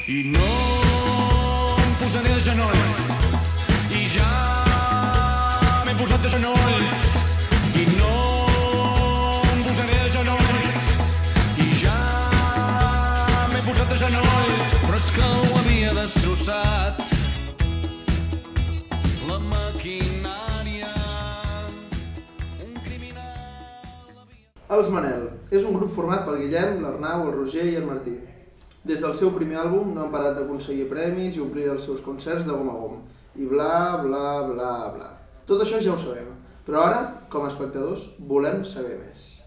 i no em posaré de genolls, i ja m'he posat de genolls, i no em posaré de genolls, i ja m'he posat de genolls, però és que ho havia destrossat la maquinària, un criminal havia... Els Manel és un grup format per Guillem, l'Arnau, el Roger i el Martí. Des del seu primer àlbum no han parat d'aconseguir premis i omplir els seus concerts de gom a gom. I bla, bla, bla, bla. Tot això ja ho sabem, però ara, com a espectadors, volem saber més.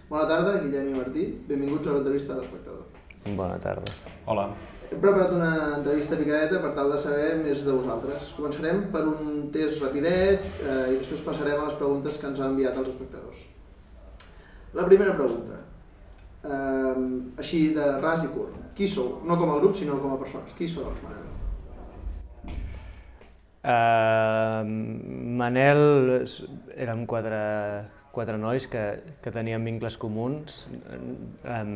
Bona tarda, Guillem i Martí. Benvinguts a l'entrevista de l'espectador. Bona tarda. Hola. Hem preparat una entrevista picadeta per tal de saber més de vosaltres. Començarem per un test rapidet i després passarem a les preguntes que ens han enviat els espectadors. La primera pregunta, així de ras i curt. Qui sou? No com a grup, sinó com a persones. Qui són els Manel? Manel, érem quatre nois que teníem vincles comuns,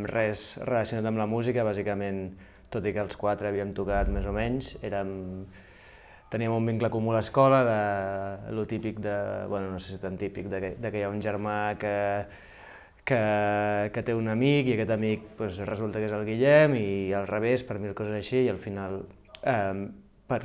res relacionat amb la música, bàsicament, tot i que els quatre havíem tocat més o menys, teníem un vincle comú a l'escola, de lo típic de, bueno, no sé si tan típic, de que hi ha un germà que té un amic i aquest amic resulta que és el Guillem i al revés, per mil coses així, i al final, per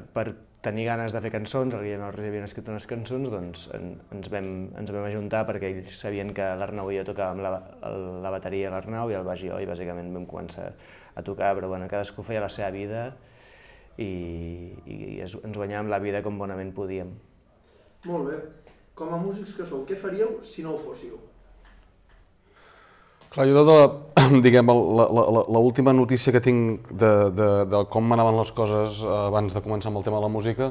tenir ganes de fer cançons, el Guillem i el Roger havien escrit unes cançons, doncs ens vam ajuntar perquè ells sabien que l'Arnau i jo tocàvem la bateria a l'Arnau i el baix jo, i bàsicament vam començar a tocar, però bueno, cadascú feia la seva vida i ens guanyàvem la vida com bonament podíem. Molt bé. Com a músics que sou, què faríeu si no ho fóssiu? Clar, jo diguem, l'última notícia que tinc de com anaven les coses abans de començar amb el tema de la música,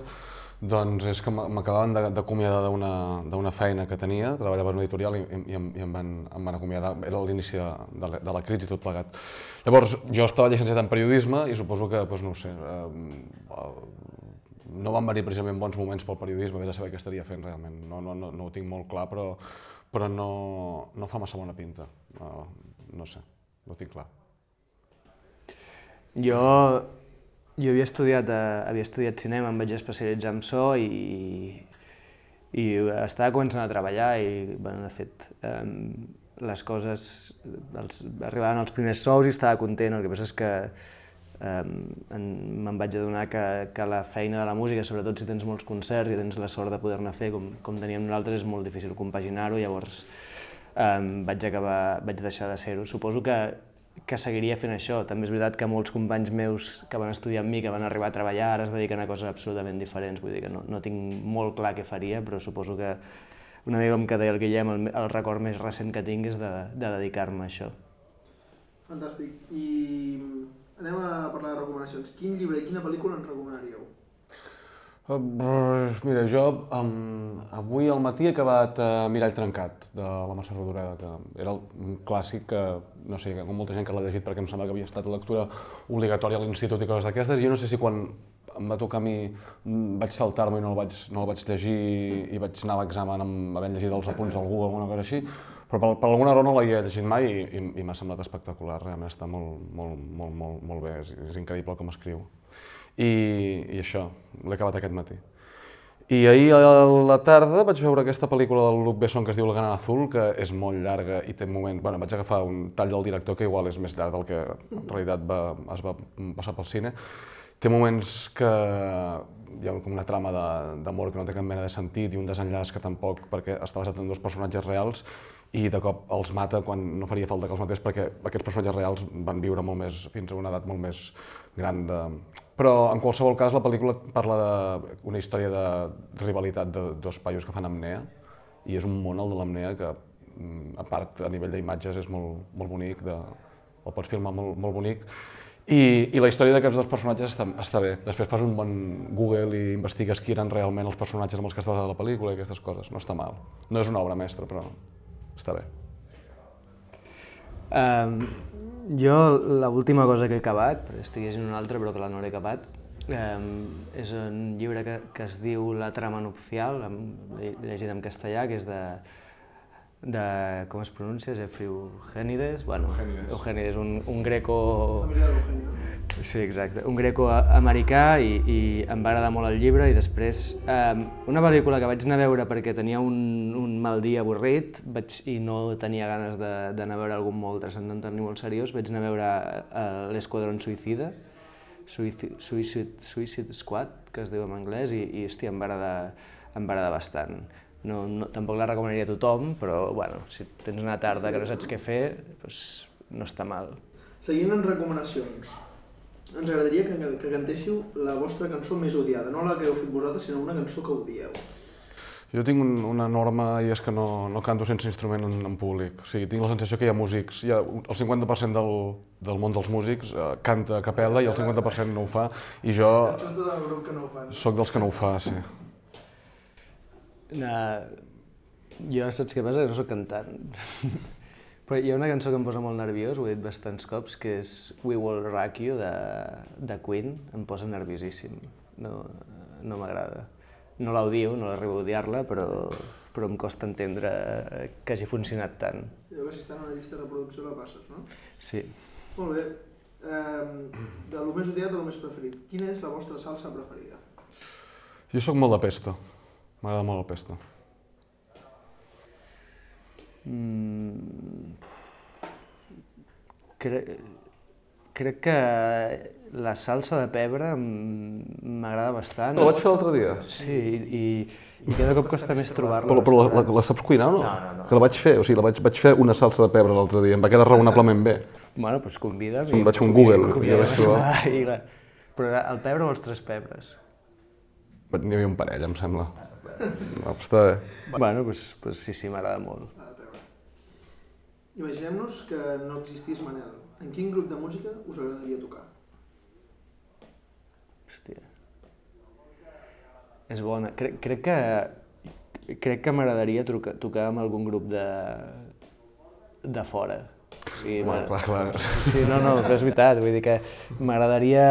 doncs és que m'acabaven d'acomiadar d'una feina que tenia, treballava en una editorial i em van acomiadar, era l'inici de la crisi i tot plegat. Llavors, jo estava llicenciat en periodisme i suposo que, no ho sé, no van venir precisament bons moments pel periodisme, vés a saber què estaria fent realment, no ho tinc molt clar, però no fa massa bona pinta, no sé, no ho tinc clar. Jo havia estudiat cinema, em vaig especialitzar en so i estava començant a treballar i, bueno, de fet, les coses, arribaven els primers sous i estava content, el que passa és que me'n vaig adonar que la feina de la música, sobretot si tens molts concerts i tens la sort de poder-ne fer com teníem nosaltres, és molt difícil compaginar-ho, llavors vaig deixar de ser-ho. Suposo que seguiria fent això. També és veritat que molts companys meus que van estudiar amb mi, que van arribar a treballar, ara es dediquen a coses absolutament diferents, vull dir que no tinc molt clar què faria, però suposo que una mica com que deia el Guillem, el record més recent que tinc és de dedicar-me a això. Fantàstic. I anem a parlar de recomanacions. Quin llibre i quina pel·lícula ens recomanaríeu? Mira, jo avui al matí he acabat Mirall trencat, de la Mercè Rodoreda, que era un clàssic que, no sé, com molta gent que l'ha llegit perquè em sembla que havia estat lectura obligatòria a l'institut i coses d'aquestes. Jo no sé si quan em va tocar a mi vaig saltar-me i no el vaig llegir i vaig anar a l'examen havent llegit els apunts al Google o alguna cosa així, però per alguna raó no l'havia llegit mai i m'ha semblat espectacular, realment està molt bé, és increïble com escriu. I això, l'he acabat aquest matí. I ahir a la tarda vaig veure aquesta pel·lícula del Luc Besson que es diu El Gran Azul, que és molt llarga i té moments... Bueno, vaig agafar un tall del director que igual és més llarg del que en realitat es va passar pel cine. Té moments que hi ha com una trama d'amor que no té cap mena de sentit i un desenllaç que tampoc, perquè està basat en dos personatges reals i de cop els mata quan no faria falta que els matés perquè aquests personatges reals van viure molt més, fins a una edat molt més gran. Però en qualsevol cas la pel·lícula parla d'una història de rivalitat de dos paios que fan apnea i és un món, el de l'apnea, que a part a nivell d'imatges és molt bonic, el pots filmar molt bonic. I la història d'aquests dos personatges està bé. Després fas un bon Google i investigues qui eren realment els personatges amb els que està basada la pel·lícula i aquestes coses. No està mal. No és una obra mestra, però està bé. Jo l'última cosa que he acabat, perquè estic llegint una altra però que no l'he acabat, és un llibre que es diu La trama nupcial, l'he llegit en castellà, que és de com es pronuncia? Eugènides? Bueno, Eugènides, un greco... Familiar d'Eugenio. Sí, exacte. Un greco-americà i em va agradar molt el llibre i després una pel·lícula que vaig anar a veure perquè tenia un mal dia avorrit i no tenia ganes d'anar a veure algun molt transcendental ni molt seriós, vaig anar a veure l'Esquadrón Suïcida, Suicide Squad, que es diu en anglès, i hòstia, em va agradar bastant. Tampoc la recomanaria a tothom, però bueno, si tens una tarda que no saps què fer, doncs no està mal. Seguint en recomanacions, ens agradaria que cantéssiu la vostra cançó més odiada, no la que heu fet vosaltres, sinó una cançó que odieu. Jo tinc una norma i és que no canto sense instrument en públic. O sigui, tinc la sensació que hi ha músics, el 50% del món dels músics canta a capella i el 50% no ho fa, i jo soc dels que no ho fa, sí. Jo saps què passa? Que no soc cantant. Però hi ha una cançó que em posa molt nerviós, ho he dit bastants cops, que és We Will Rock You, de Queen. Em posa nerviosíssim, no m'agrada. No l'odio, no l'arribo a odiar-la, però em costa entendre que hagi funcionat tant. Allò que si està en una llista de reproducció la passes, no? Sí. Molt bé. De lo més odiat a lo més preferit, quina és la vostra salsa preferida? Jo sóc molt de pesto, m'agrada molt el pesto. Crec que la salsa de pebre m'agrada bastant. La vaig fer l'altre dia. Sí, i cada cop costa més trobar-la. Però la saps cuinar o no? No. Que la vaig fer, o sigui, vaig fer una salsa de pebre l'altre dia, em va quedar raonablement bé. Bueno, doncs convida'm. Em vaig fer un Google. Però el pebre o els tres pebres? N'hi havia un parell, em sembla. Està bé. Bueno, doncs sí, m'agrada molt. Imaginem-nos que no existís Manel. En quin grup de música us agradaria tocar? Hòstia. És bona. Crec que m'agradaria tocar amb algun grup de fora. O sigui, Clar. Sí, no, però és veritat, vull dir que m'agradaria...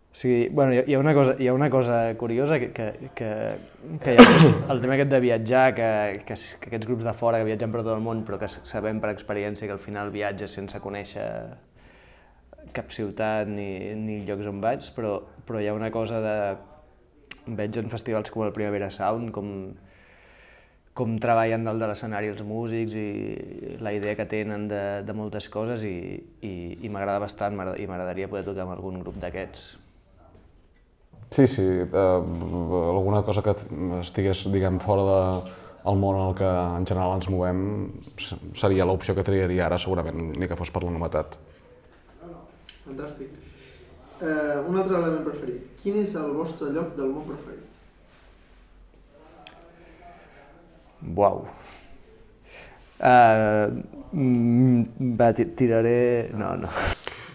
O sigui, bueno, hi ha una cosa curiosa que hi ha el tema aquest de viatjar, que aquests grups de fora que viatgen per tot el món, però que sabem per experiència que al final viatges sense conèixer cap ciutat ni llocs on vaig, però hi ha una cosa de... Veig en festivals com el Primavera Sound, com treballen dalt de l'escenari els músics i la idea que tenen de moltes coses i m'agrada bastant i m'agradaria poder tocar amb algun grup d'aquests. Sí, alguna cosa que estigués, diguem, fora del món en el que en general ens movem seria l'opció que triaria ara, segurament, ni que fos per la novetat. Fantàstic. Un altre element preferit. Quin és el vostre lloc del món preferit? Uau. Tiraré... No.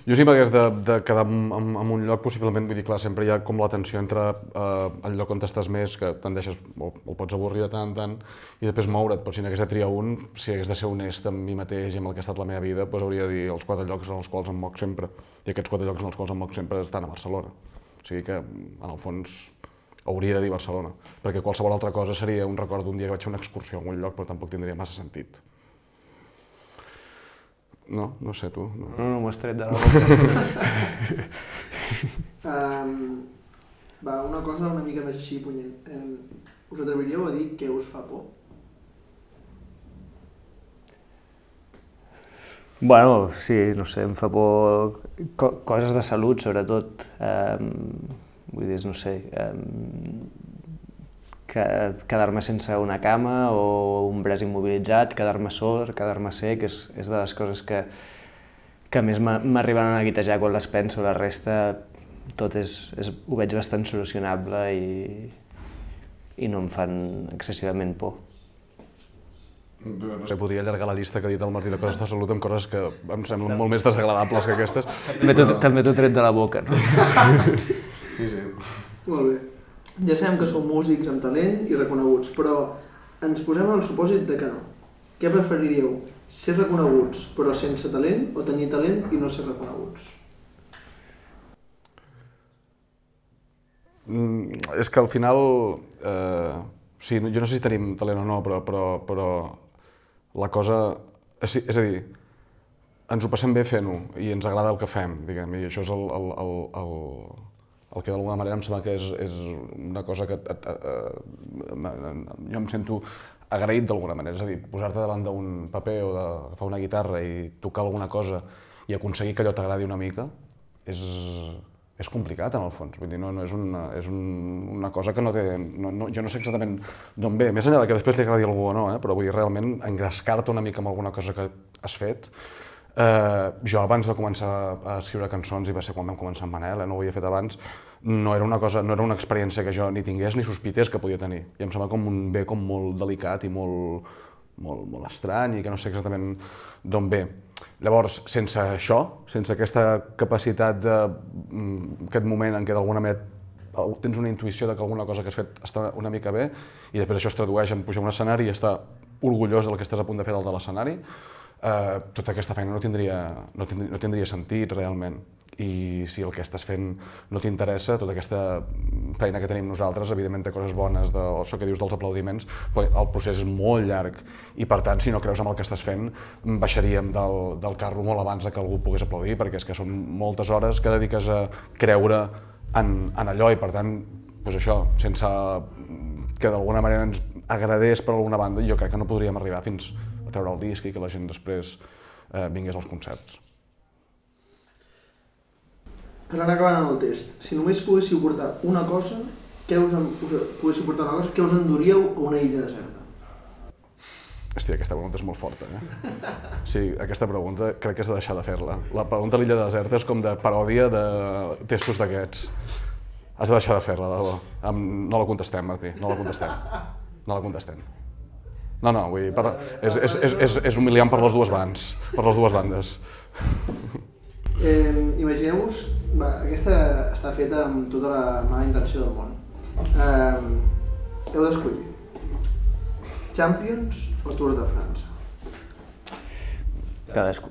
Jo si m'hagués de quedar en un lloc, possiblement, vull dir, clar, sempre hi ha com la tensió entre el lloc on estàs més, que te'n deixes, o pots avorrir de tant en tant, i després moure't, però si n'hagués de triar un, si hagués de ser honest amb mi mateix i amb el que ha estat la meva vida, doncs hauria de dir els 4 llocs en els quals em moc sempre. I aquests 4 llocs en els quals em moc sempre estan a Barcelona. O sigui que, en el fons, hauria de dir Barcelona, perquè qualsevol altra cosa seria un record d'un dia que vaig fer una excursió a algun lloc, però tampoc tindria massa sentit. No? No sé, tu. No m'ho has tret de la boca. Una cosa una mica més així punyent. Us atreviríeu a dir què us fa por? Bueno, sí, no sé, em fa por coses de salut, sobretot. Vull dir, no sé, quedar-me sense una cama o un braç immobilitzat, quedar-me sord, quedar-me sec, és de les coses que més m'arriben a neguitejar quan les penso. La resta, tot ho veig bastant solucionable i no em fan excessivament por. No sé, podria allargar la llista que ha dit el Martí de coses de salut amb coses que em semblen molt més desagradables que aquestes. També t'ho tret de la boca, no? Sí. Molt bé. Ja sabem que sou músics amb talent i reconeguts, però ens posem en el supòsit de que no. Què preferiríeu? Ser reconeguts però sense talent o tenir talent i no ser reconeguts? És que al final, sí, jo no sé si tenim talent o no, però la cosa... És a dir, ens ho passem bé fent-ho i ens agrada el que fem, diguem, i això és el que d'alguna manera em sembla que és una cosa que jo em sento agraït d'alguna manera, és a dir, posar-te davant d'un paper o d'agafar una guitarra i tocar alguna cosa i aconseguir que allò t'agradi una mica és complicat en el fons, vull dir, no és una cosa que no té, jo no sé exactament d'on ve, més enllà que després li agradi a algú o no, però vull dir, realment engrescar-te una mica amb alguna cosa que has fet. Jo abans de començar a escriure cançons, i va ser quan vam començar amb Manel, no ho havia fet abans, no era una experiència que jo ni tingués ni sospités que podia tenir. I em sembla com un bé molt delicat i molt estrany i que no sé exactament d'on ve. Llavors, sense això, sense aquesta capacitat d'aquest moment en què d'alguna manera tens una intuïció de que alguna cosa que has fet està una mica bé i després això es tradueix en pujar a un escenari i estar orgullós del que estàs a punt de fer dalt de l'escenari, tota aquesta feina no tindria sentit realment. I si el que estàs fent no t'interessa, tota aquesta feina que tenim nosaltres, evidentment té coses bones, això que dius dels aplaudiments, però el procés és molt llarg i per tant, si no creus en el que estàs fent, baixaríem del carro molt abans que algú pogués aplaudir, perquè és que són moltes hores que dediques a creure en allò i per tant, doncs això, sense que d'alguna manera ens agradés per alguna banda, jo crec que no podríem arribar fins a treure el disc i que la gent després vingués als concerts. Per anar acabant amb el test, si només poguéssiu portar una cosa, què us enduríeu a una illa deserta? Hòstia, aquesta pregunta és molt forta, Sí, aquesta pregunta crec que has de deixar de fer-la. La pregunta a l'illa deserta és com de paròdia de testos d'aquests. Has de deixar de fer-la, de debò. No la contestem, Martí, no la contestem. No la contestem. No, vull dir, és humiliant per les dues bandes. Imagineu-vos, aquesta està feta amb tota la mala intenció del món. Heu d'escollir Champions o Tour de França? Has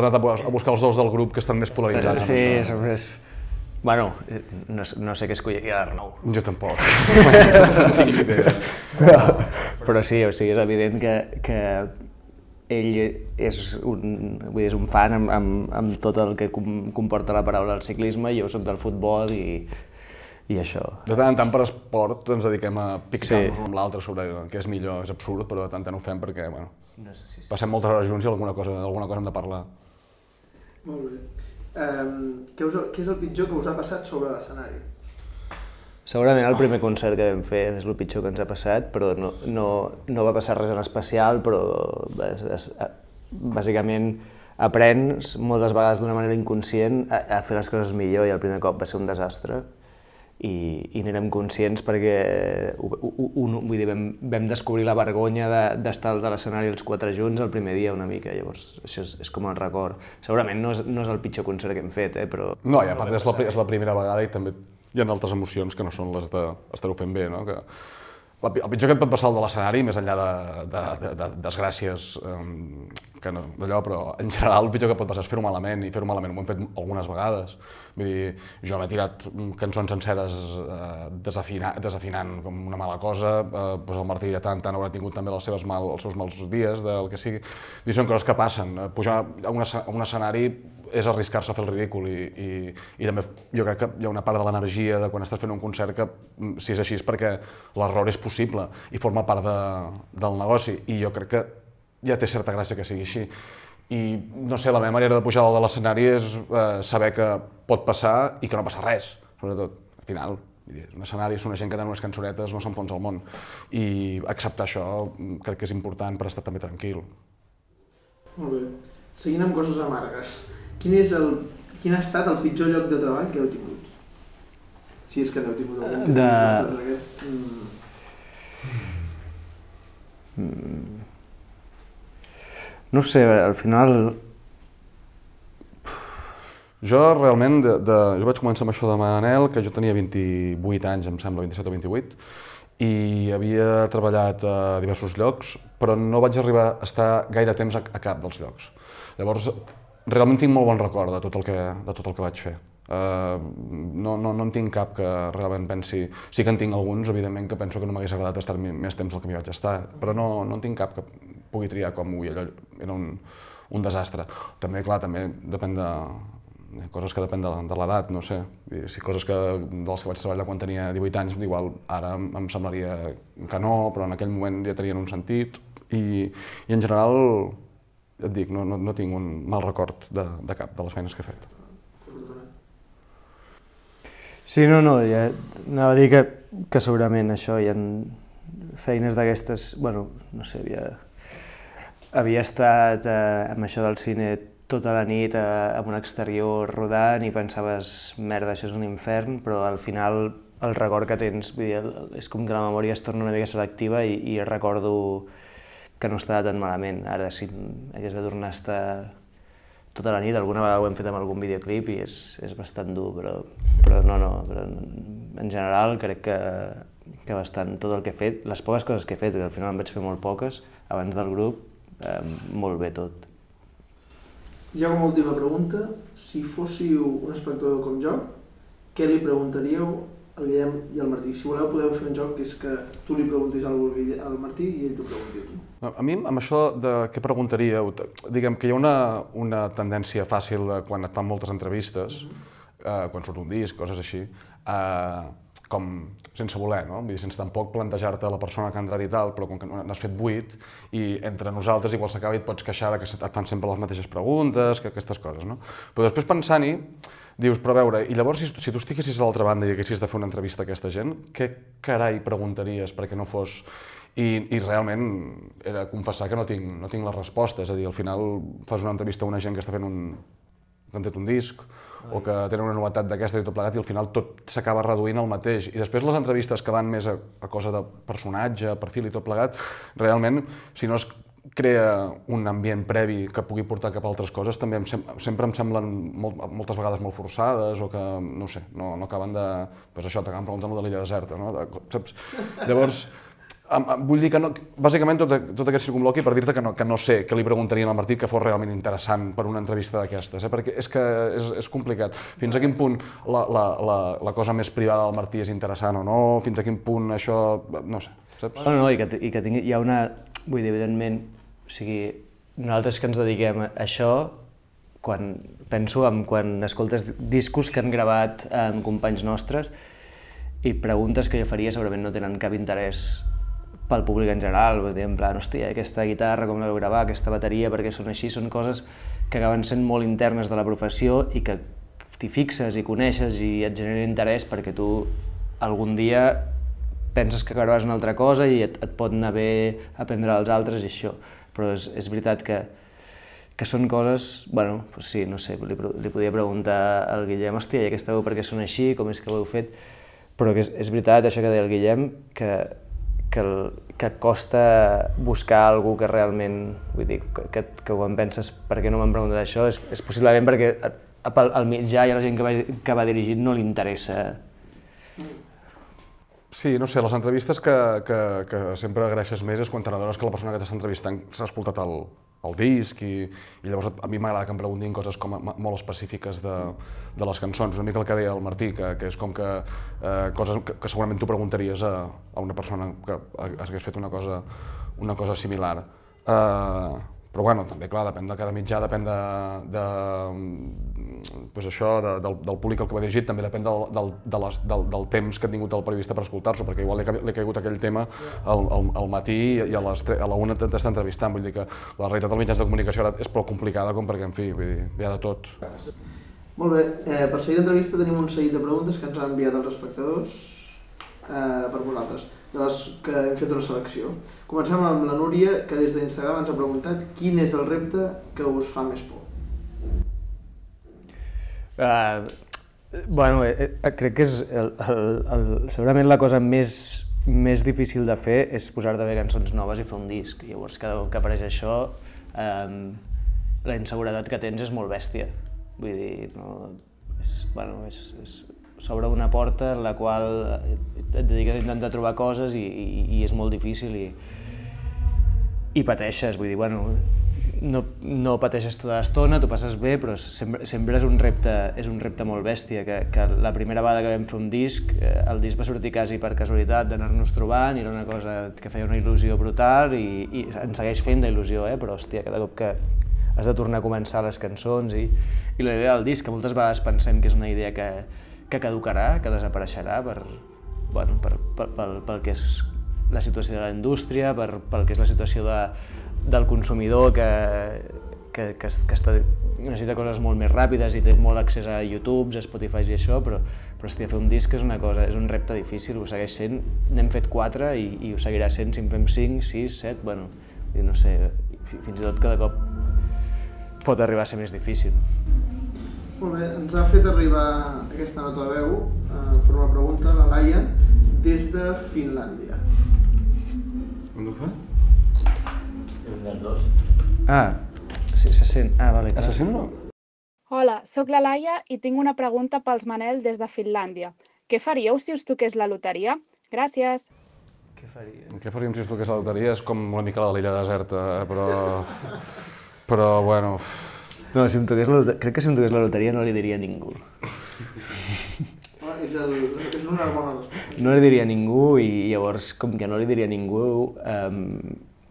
anat a buscar els dos del grup que estan més polaritzats. Sí, som més... Bueno, no sé què escolliria l'Arnau. Jo tampoc. Però sí, o sigui, és evident que ell és un fan amb tot el que comporta la paraula del ciclisme i jo soc del futbol i això. De tant en tant per esport ens dediquem a pixar-nos un amb l'altre sobre què és millor, és absurd, però de tant en tant ho fem perquè passem moltes hores junts i alguna cosa hem de parlar. Molt bé. Què és el pitjor que us ha passat sobre l'escenari? Segurament el primer concert que vam fer és el pitjor que ens ha passat, però no va passar res en especial, però bàsicament aprens moltes vegades d'una manera inconscient a fer les coses millor i el primer cop va ser un desastre i n'érem conscients perquè vull dir, vam descobrir la vergonya d'estar a l'escenari els quatre junts el primer dia una mica, llavors això és com el record. Segurament no és el pitjor concert que hem fet, però... No, i a part és la primera vegada i també hi ha altres emocions que no són les d'estar-ho fent bé, no? El pitjor que et pot passar al de l'escenari, més enllà de desgràcies d'allò, però en general el pitjor que pot passar és fer-ho malament, i fer-ho malament ho hem fet algunes vegades. Vull dir, jo m'he tirat cançons senceres desafinant com una mala cosa, el Martí ja tant haurà tingut també els seus mals dies, del que sigui. Són coses que passen. Pujar a un escenari és arriscar-se a fer el ridícul i també jo crec que hi ha una part de l'energia de quan estàs fent un concert que si és així és perquè l'error és possible i forma part del negoci i jo crec que ja té certa gràcia que sigui així. I no sé, la meva manera de pujar dalt de l'escenari és saber que pot passar i que no passa res, sobretot. Al final, és un escenari, és una gent que té unes cançonetes, no s'enfonsa el món. I acceptar això crec que és important per estar també tranquil. Molt bé. Seguint amb coses amargues. Quin ha estat el pitjor lloc de treball que heu tingut? Si és que n'heu tingut algun. No sé, al final... Jo realment, jo vaig començar amb això de Manel, que jo tenia 28 anys, em sembla, 27 o 28, i havia treballat a diversos llocs, però no vaig arribar a estar gaire temps a cap dels llocs. Llavors, realment tinc molt bon record de tot el que vaig fer. No en tinc cap que realment pensi... Sí que en tinc alguns, evidentment, que penso que no m'hagués agradat estar més temps del que m'hi vaig estar, però no en tinc cap que pugui triar com avui. Allò era un desastre. També, clar, també depèn de coses que depèn de l'edat, no sé. Si coses de les que vaig treballar quan tenia 18 anys, igual ara em semblaria que no, però en aquell moment ja tenien un sentit. I en general, et dic, no tinc un mal record de cap de les feines que he fet. Sí, no, ja anava a dir que segurament això, hi ha feines d'aquestes, bueno, no sé, havia estat amb això del cine tota la nit en un exterior rodant i pensaves, merda, això és un infern, però al final el record que tens, vull dir, és com que la memòria es torna una mica selectiva i recordo que no estava tan malament. Ara, si hagués de tornar a estar tota la nit, alguna vegada ho hem fet amb algun videoclip i és bastant dur, però en general crec que bastant tot el que he fet, les poques coses que he fet, que al final en vaig fer molt poques, abans del grup, molt bé tot. Ja com a última pregunta, si fóssiu un espectador com jo, què li preguntaríeu al Guillem i al Martí? Si voleu podem fer un joc que és que tu li preguntis alguna cosa al Martí i ell t'ho pregunti. A mi, amb això de què preguntaríeu, diguem que hi ha una tendència fàcil quan et fan moltes entrevistes, quan surt un disc, coses així, com sense voler, no? Vull dir, sense tampoc plantejar-te la persona que ha entrat i tal, però com que n'has fet 8 i entre nosaltres igual s'acaba i et pots queixar que et fan sempre les mateixes preguntes, que aquestes coses, no? Però després pensant-hi, dius, però a veure, i llavors si tu estiguessis a l'altra banda i haguessis de fer una entrevista a aquesta gent, què carai preguntaries perquè no fos... I realment he de confessar que no tinc les respostes, és a dir, al final fas una entrevista a una gent que està fent que han tret un disc, o que tenen una novetat d'aquestes i tot plegat, i al final tot s'acaba reduint al mateix. I després les entrevistes que van més a cosa de personatge, perfil i tot plegat, realment, si no es crea un ambient previ que pugui portar cap a altres coses, també sempre em semblen moltes vegades molt forçades, o que, no sé, no acaben de... Doncs això, t'acaben preguntant de l'illa deserta, no? Saps? Llavors, vull dir que no, bàsicament tot aquest circumloqui per dir-te que no sé què li preguntarien al Martí que fos realment interessant per una entrevista d'aquestes, perquè és que és complicat. Fins a quin punt la cosa més privada del Martí és interessant o no, fins a quin punt això, no sé, saps? No, i que hi ha una... Vull dir, evidentment, o sigui, nosaltres que ens dediquem a això, penso en quan escoltes discos que han gravat amb companys nostres i preguntes que jo faria segurament no tenen cap interès pel públic en general, vull dir, en plan, hòstia, aquesta guitarra, com la vau gravar, aquesta bateria, perquè són així, són coses que acaben sent molt internes de la professió i que t'hi fixes i coneixes i et genera interès perquè tu algun dia penses que acabaràs una altra cosa i et pot anar bé aprendre als altres i això, però és veritat que són coses, bueno, doncs sí, no sé, li podia preguntar al Guillem, hòstia, i aquesta veu per què són així, com és que ho heu fet, però que és veritat això que deia el Guillem, que costa buscar algú que realment, vull dir, que quan penses per què no m'han preguntat això, és possiblement perquè al mitjà i a la gent que va dirigir no li interessa. Sí, no sé, les entrevistes que sempre agraeixes més és quan t'adones que la persona que t'està entrevistant s'ha escoltat el disc i llavors a mi m'agrada que em preguntin coses com molt específiques de les cançons, una mica el que deia el Martí, que és com que coses que segurament tu preguntaries a una persona que hagués fet una cosa similar. Però bueno, també, clar, depèn de cada mitjà, depèn del públic al que va dirigit, també depèn del temps que ha tingut el periodista per escoltar-s'ho, perquè igual li ha caigut aquell tema al matí i a la una t'està entrevistant, vull dir que la realitat dels mitjans de comunicació ara és prou complicada com perquè, en fi, vull dir, hi ha de tot. Molt bé, per seguir l'entrevista tenim un seguit de preguntes que ens han enviat els espectadors per vosaltres, de les que hem fet una selecció. Comencem amb la Núria, que des d'Instagram ens ha preguntat quin és el repte que us fa més por. Bueno, crec que és segurament la cosa més difícil de fer és posar-te a fer cançons noves i fer un disc. Llavors, cada cop que apareix això, la inseguretat que tens és molt bèstia. Vull dir, s'obre una porta en la qual et dediques a intentar trobar coses i és molt difícil i pateixes, vull dir, bueno, no pateixes tota l'estona, t'ho passes bé, però sempre és un repte molt bèstia, que la primera vegada que vam fer un disc, el disc va sortir quasi per casualitat d'anar-nos trobant i era una cosa que feia una il·lusió brutal i ens segueix fent d'il·lusió, però hòstia, cada cop que has de tornar a començar les cançons i la idea del disc, que moltes vegades pensem que és una idea que caducarà, que desapareixerà pel que és la situació de la indústria, pel que és la situació del consumidor que necessita coses molt més ràpides i té molt accés a YouTube, a Spotify i això, però hòstia, fer un disc és una cosa, és un repte difícil, ho segueix sent, n'hem fet 4 i ho seguirà sent si en fem 5, 6, 7, bueno, no sé, fins i tot cada cop pot arribar a ser més difícil. Molt bé, ens ha fet arribar aquesta nota de veu, en forma de pregunta, la Laia, des de Finlàndia. On ho fa? Un dels dos. Ah, sí, se sent. Ah, vale, clar. Se sent o no? Hola, sóc la Laia i tinc una pregunta pels Manel des de Finlàndia. Què faríeu si us toqués la loteria? Gràcies. Què faria? Què faríem si es toqués la loteria? És com una mica la de l'illa deserta, però bueno... No, crec que si em toqués la loteria no li diria a ningú. És una bona resposta. No li diria a ningú i llavors, com que no li diria a ningú,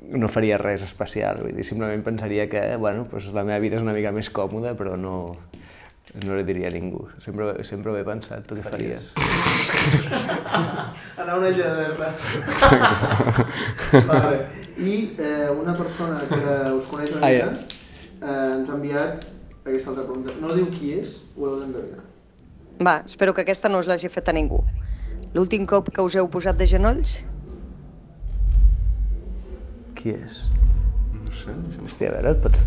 no faria res especial. Vull dir, simplement pensaria que bueno, doncs la meva vida és una mica més còmoda, però no li diria a ningú. Sempre ho he pensat, tu què faries? Anar a una illa deserta. Vale. I una persona que us coneix una mica ens ha enviat aquesta altra pregunta. No diu qui és, ho heu d'endevinar. Va, espero que aquesta no us l'hagi fet a ningú. L'últim cop que us heu posat de genolls? Qui és? No sé, Hòstia, a veure, et pots...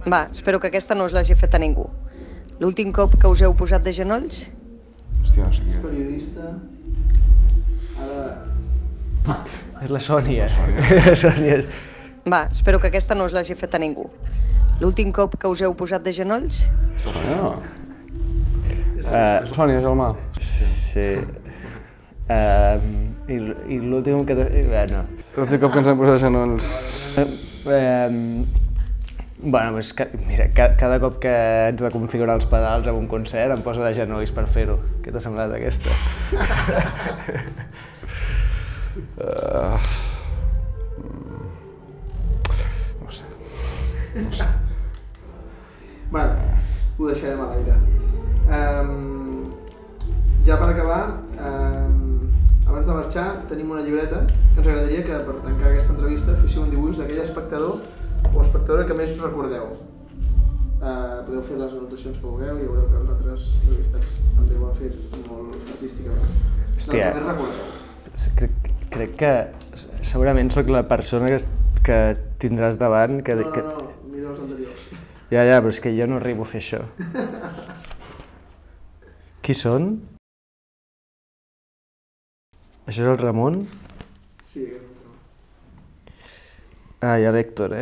Va, espero que aquesta no us l'hagi fet a ningú. L'últim cop que us heu posat de genolls? Hòstia, no sé qui és. Periodista... Ara... És la Sònia. La Sònia. Va, espero que aquesta no us l'hagi fet a ningú. L'últim cop que us heu posat de genolls? Sònia, Gelmà. Sí. I l'últim que... Bueno. L'últim cop que ens hem posat de genolls... Bueno, doncs, mira, cada cop que haig de configurar els pedals en un concert em poso de genolls per fer-ho. Què t'ha semblat aquesta? No sé. Bueno, ho deixarem a l'aire. Ja per acabar, abans de marxar, tenim una llibreta que ens agradaria que per tancar aquesta entrevista féssiu un dibuix d'aquell espectador o espectadora que més us recordeu. Podeu fer les anotacions que vulgueu i veureu que els altres entrevistats també ho han fet molt artísticament. Hòstia. Del que més recordeu. Crec que segurament sóc la persona que tindràs davant que... No, mira els anteriors. Ja, però és que jo no arribo a fer això. Qui són? Això és el Ramon? Sí, aquest és el Ramon. Ah, hi ha l'Héctor,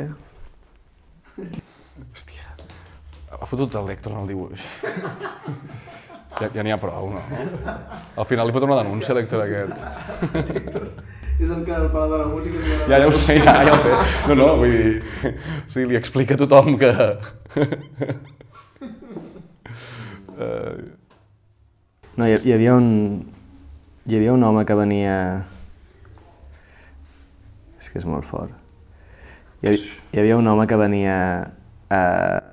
Hòstia, ha fotut l'Héctor en el dibuix. Ja n'hi ha prou, no? Al final li fot una denúncia a l'Héctor aquest. És el que al Palau de la Música... Ja ho sé, ja ho sé. No, vull dir... O sigui, li explica a tothom que... No, hi havia un home que venia... És que és molt fort. Hi havia un home que venia a...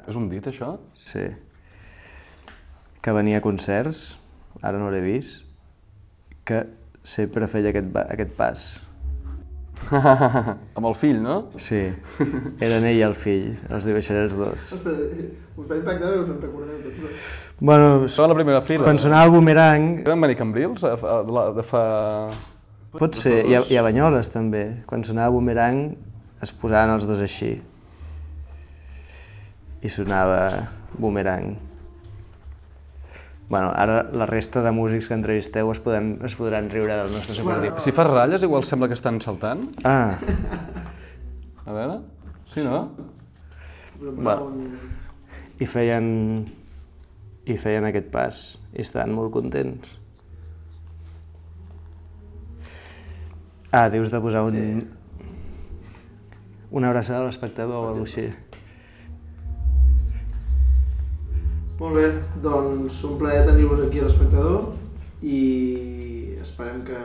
És un dit, això? Sí. Que venia a concerts, ara no l'he vist, que sempre feia aquest pas. Amb el fill, no? Sí, eren ell i el fill, els dibuixaré els dos. Ostres, us va impactar que us en recordeu tots. Bueno, Estava a la primera fila. quan sonava el Boomerang... Van venir Cambrils de fa... Pot ser, i a Banyoles també. Quan sonava Boomerang es posaven els dos així. I sonava Boomerang. Bueno, ara la resta de músics que entrevisteu es podran riure del nostre superdip. Si fas ratlles, igual sembla que estan saltant. Ah, A veure... Sí, no? bueno. I feien aquest pas i estaven molt contents. Ah, dius de posar una abraçada a l'espectador o alguna cosa així. Molt bé, doncs un plaer tenir-vos aquí a l'Espectador i esperem que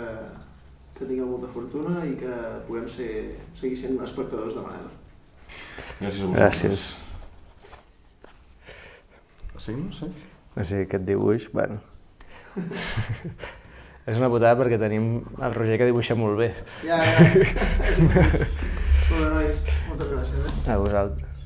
tingueu molta fortuna i que puguem seguir sent espectadors de Manel. Gràcies. Sí, no sé. O sigui, aquest dibuix, bueno... És una putada perquè tenim el Roger que dibuixa molt bé. Ja. Molt bé, nois. Moltes gràcies. A vosaltres.